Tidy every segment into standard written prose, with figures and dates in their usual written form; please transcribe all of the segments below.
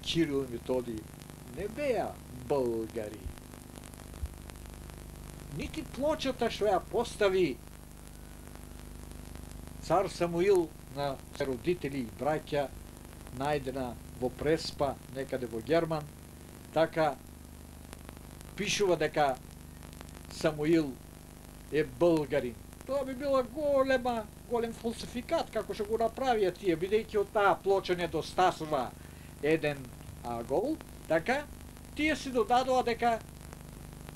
Кирил и Методий не беа българи. Нити плочата што ја постави цар Самуил на родители и браќа, најдена во Преспа, некаде во Герман, така пишува дека Самуил е българин. Тоа би била голем фалсификат, како што го направија тие, бидејќи од таа плоча не достасува еден агол, така, тие си додадоа дека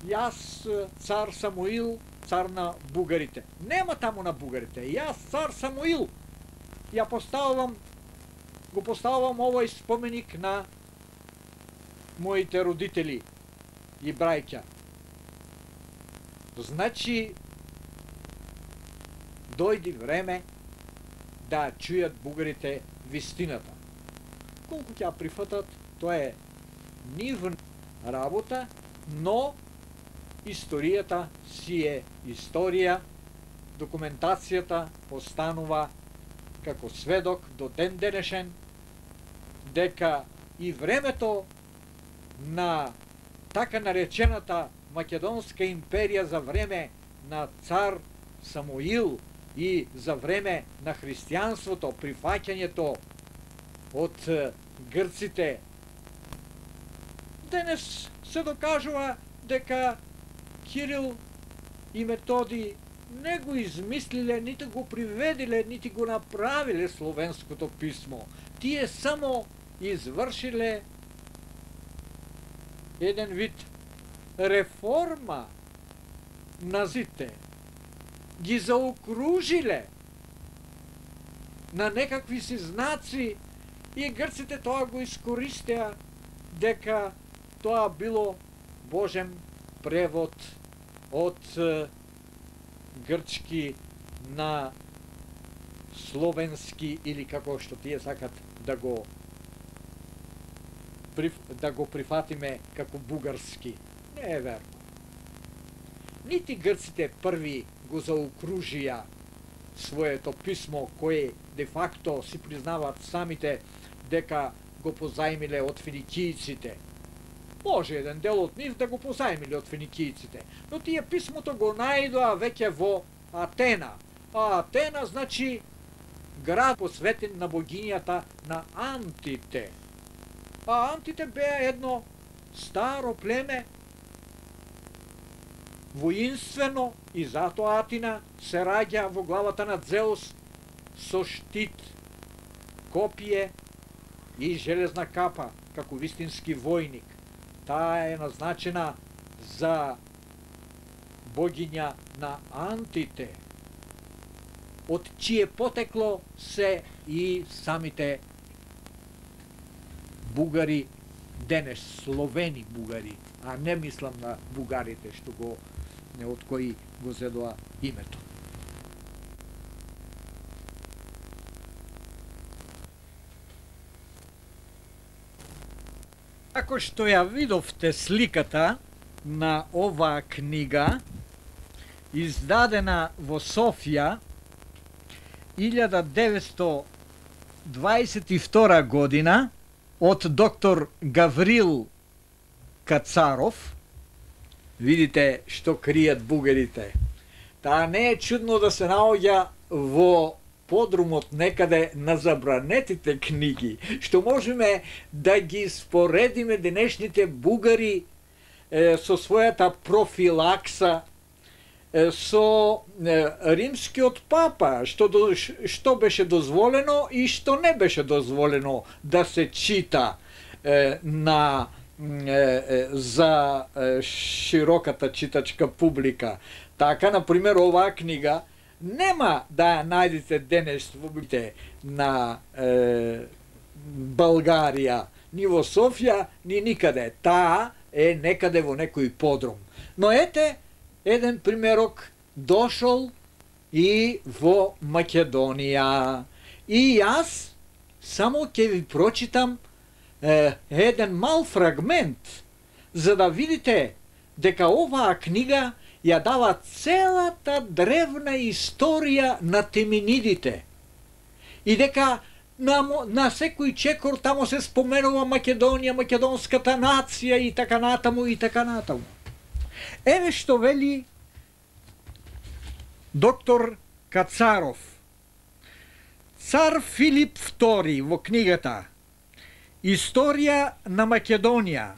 јас, цар Самуил, цар на бугарите. Нема таму на бугарите. Јас, цар Самуил, го поставувам овој споменик на моите родители и браќа. Значи, дојди време да чујат бугарите вистината. Колку ќе ја прифатат, тоа е нивна работа, но историјата си е историја, документацијата постанува како сведок до ден денешен, дека и времето на така наречената Македонска империја за време на цар Самуил и за време на христијанството, прифаќањето од грците, денес се докажува дека Кирил и Методий не го измислиле, нити го приведиле, нити го направиле словенското писмо. Тие само извршиле еден вид реформа на зите, ги заокружиле на некакви си знаци и грците тоа го искористеа дека тоа било Божен превод од грчки на словенски или како што тие сакат да го прифатиме како бугарски. Не е верно. Нити грците први го заокружија своето писмо, кое де факто си признаваат самите дека го позајмиле од финикијците. Може еден дел од нив да го позајмиле од финикијците, но тие писмото го најдоа веќе во Атена. А Атена значи град посветен на богињата на Антите. А Антите беа едно старо племе, воинствено, и затоа Атина се раѓа во главата на Зеус со штит, копие и железна капа, како вистински војник. Таа е назначена за богиња на Антите, од чие потекло се и самите бугари денес, словени бугари, а не мислам на бугарите што го не од кои го зедоа името. Ако што ја видовте сликата на оваа книга, издадена во Софија 1922 година од доктор Гаврил Кацаров, видите што кријат бугарите. Таа не е чудно да се наоѓа во подрумот некаде на забранетите книги, што можеме да ги споредиме денешните бугари со својата профилакса, со римскиот папа, што беше дозволено и што не беше дозволено да се чита за широката читачка публика. Така, например, оваа книга нема да ја најдете денес во библиотеките на Българија, ни во Софија, ни никаде. Таа е некаде во некој подрум. Но ете, еден примерок дошол и во Македонија. И јас само ќе ви прочитам еден мал фрагмент, за да видите дека оваа книга ја дава целата древна историја на теминидите и дека на секој чекор тамо се споменува Македонија, македонската нација и така натаму и така натаму. Еве што вели доктор Кацаров. Цар Филип II во книгата Историја на Македонија,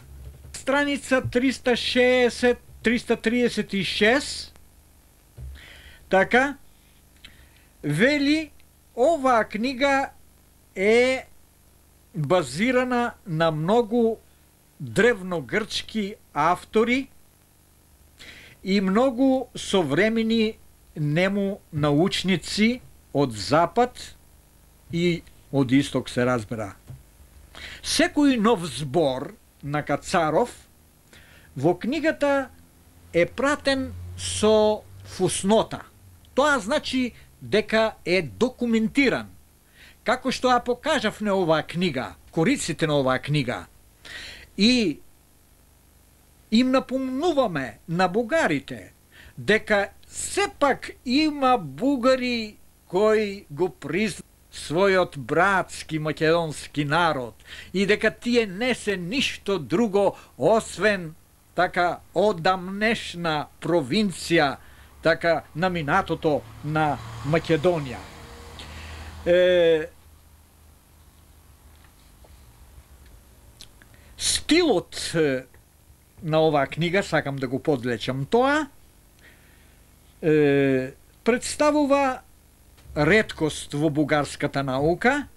страница 360-336, така, вели оваа книга е базирана на многу древногрчки автори и многу современи нему научници од запад и од исток, се разбира. Секој нов збор на Кацаров во книгата е пратен со фуснота. Тоа значи дека е документиран. Како што ја покажавме оваа книга, кориците на оваа книга. И им напомнуваме на бугарите дека сепак има бугари кои го признаваат својот братски македонски народ и дека тие не се ништо друго освен така одамнешна провинција, така на минатото на Македонија. Стилот на оваа книга, сакам да го подлечам тоа, представува реткост во бугарската наука,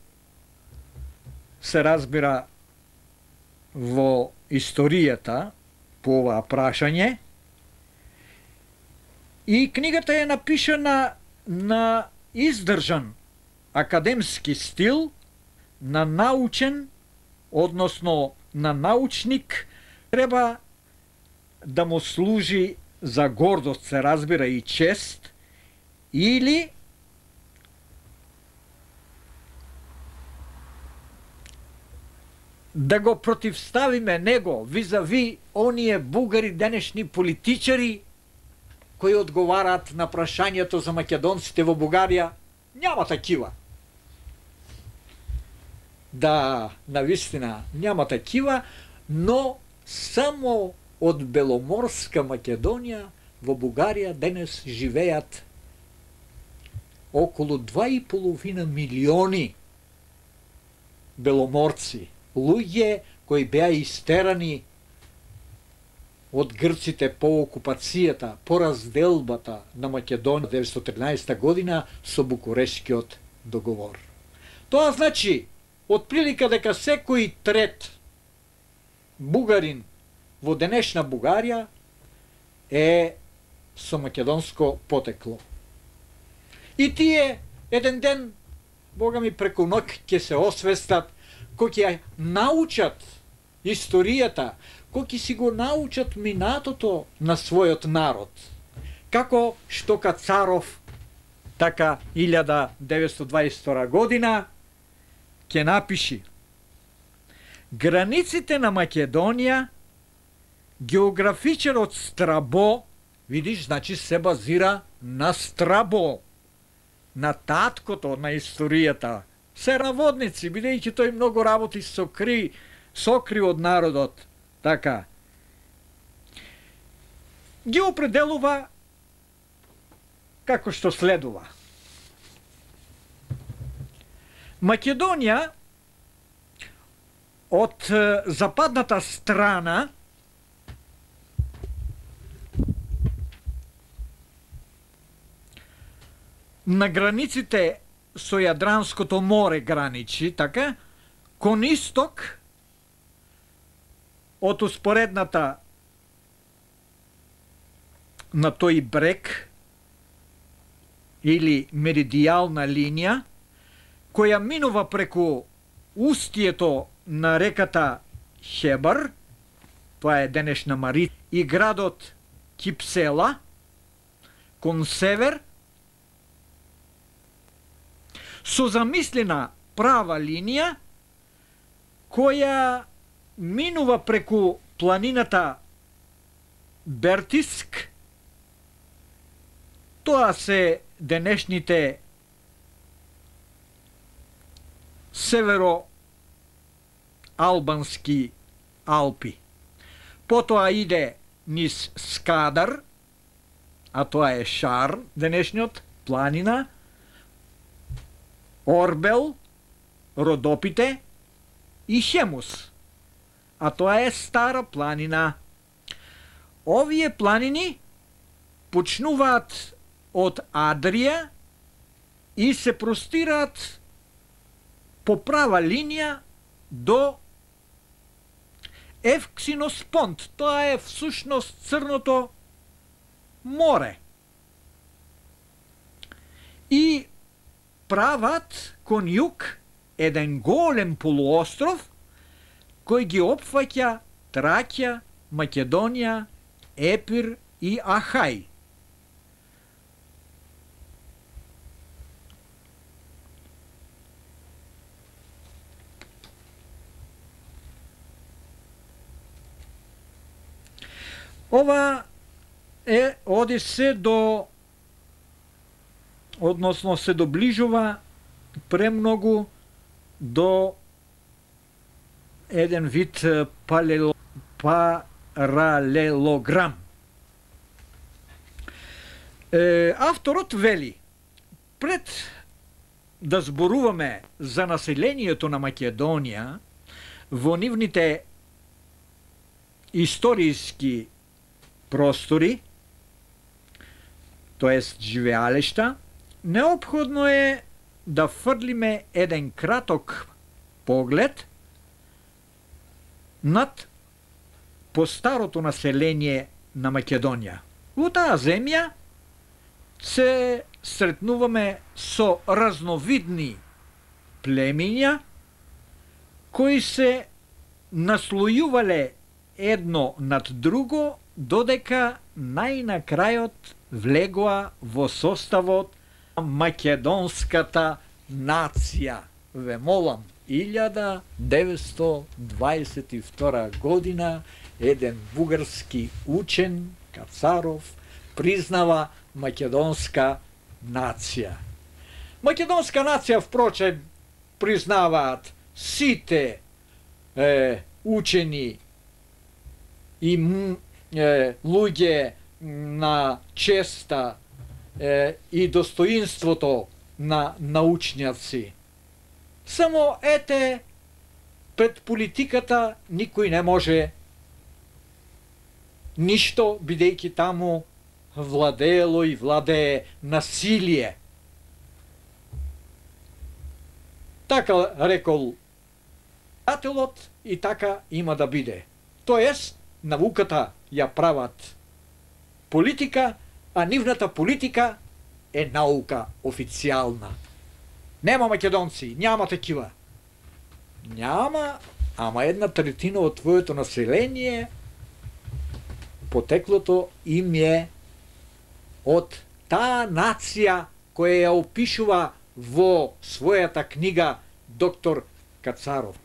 се разбира во историјата по оваа прашање, и книгата е напишана на издржан академски стил, на научен, односно на научник, треба да му служи за гордост, се разбира, и чест, или да го противставиме него визави оние бугари денешни политичари кои одговараат на прашањето за македонците во Бугарија. Няма такива. Да, навистина, няма такива, но само од Беломорска Македонија во Бугарија денес живеат околу 2,5 милиони беломорци, луѓе кои беа истерани од грците по окупацијата, по разделбата на Македонија 1913 година со Букурешкиот договор. Тоа значи, отприлика дека секој трет бугарин во денешна Бугарија е со македонско потекло. И тие еден ден, Бога ми, преку ноќ ќе се освестат, кои ќе научат историјата, кои ќе си го научат минатото на својот народ. Како што Кацаров, така 1922 година, ќе напиши: границите на Македонија, географичарот Страбо, видиш, значи се базира на Страбо, на таткото на историјата, се наводници, бидејќи тој многу работи сокри од народот, така, ги определува како што следува. Македонија од западната страна на границите со Јадранското море граничи, така, кон исток од успоредната на тој брег или меридијална линија, која минува преку устието на реката Хебар, тоа е денешна Мари, и градот Кипсела, кон север, со замислена права линија, која минува преку планината Бертиск, тоа се денешните северо-албански Алпи. Потоа иде низ Скадар, а тоа е Шар, денешниот, планина, Орбел, Родопите и Хемус, а тоа е Стара планина. Овие планини почнуваат од Адрија и се простираат по права линија до Евксиноспонт. Тоа е всушност Црното море. И прават кон југ еден голем полуостров кој ги опфаќа Тракија, Македонија, Епир и Ахај. Ова оди се до, односно се доближува премногу до еден вид паралелограм. Авторот вели, пред да зборуваме за населението на Македонија во нивните историски простори, тоест живеалишта, неопходно е да фрлиме еден краток поглед над постарото население на Македонија. Во таа земја се сретнуваме со разновидни племиња кои се наслојувале едно над друго додека најнакрајот влегоа во составот на македонската нација. Ве молам, 1922 година еден бугарски учен, Кацаров, признава македонска нација. Македонска нација, впрочем, признаваат сите учени и луѓе на честа и достоинството на научњаци. Само ете, пред политиката никој не може ништо, бидејќи таму владеело и владее насилие. Така рекол писателот и така има да биде. Тоест, науката ја прават политика, а нивната политика е наука официјална. Нема македонци, няма такива. Няма, ама 1/3 од твоето население потеклото им е од таа нација која ја опишува во својата книга доктор Кацаров.